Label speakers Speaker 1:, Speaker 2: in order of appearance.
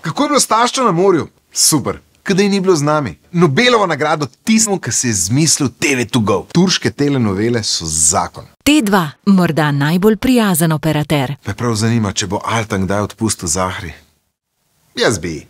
Speaker 1: Kako je bilo s taščo na morju? Super. Kadaj ni bilo z nami. Nobelovo nagrado tismu, ki se je zmislil TV2Go. Turške telenovele so zakon.
Speaker 2: T2, morda najbolj prijazen operater.
Speaker 1: Me prav zanima, če bo Altan kdaj odpustil Zahri. Jaz bi.